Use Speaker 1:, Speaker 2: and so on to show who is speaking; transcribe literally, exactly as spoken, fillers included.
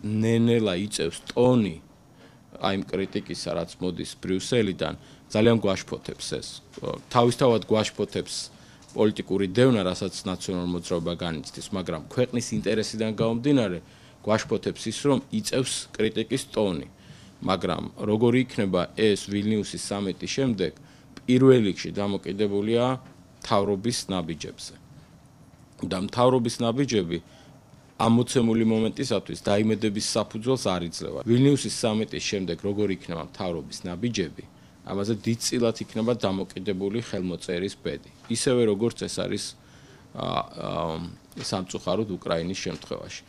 Speaker 1: ნენელა იწევს ტონი აი იმ კრიტიკისა, რაც მოდის ბრიუსელიდან, ძალიან გვაშფოთებს ეს. თავისთავად გვაშფოთებს პოლიტიკური დევნა, რასაც ნაციონალურ მოძრაობა განიცდის, მაგრამ ქვეყნის ინტერესიდან გამომდინარე, გვაშფოთებს ის, რომ იწევს კრიტიკის ტონი. მაგრამ როგორი იქნება ეს ვილნიუსის სამიტის შემდეგ, პირველ რიგში დამოკიდებულია მთავრობის ნაბიჯებზე. და მთავრობის ნაბიჯები ამ მოცემული მომენტისათვის დაიმედების საფუძველს არ იძლევა. ვილნიუსის სამიტის შემდეგ როგორი იქნება მთავრობის ნაბიჯები, ამაზე დიდწილად იქნება დამოკიდებული ხელმოწერის ბედი. ისევე როგორც ეს არის სამწუხაროდ უკრაინის შემთხვევაში.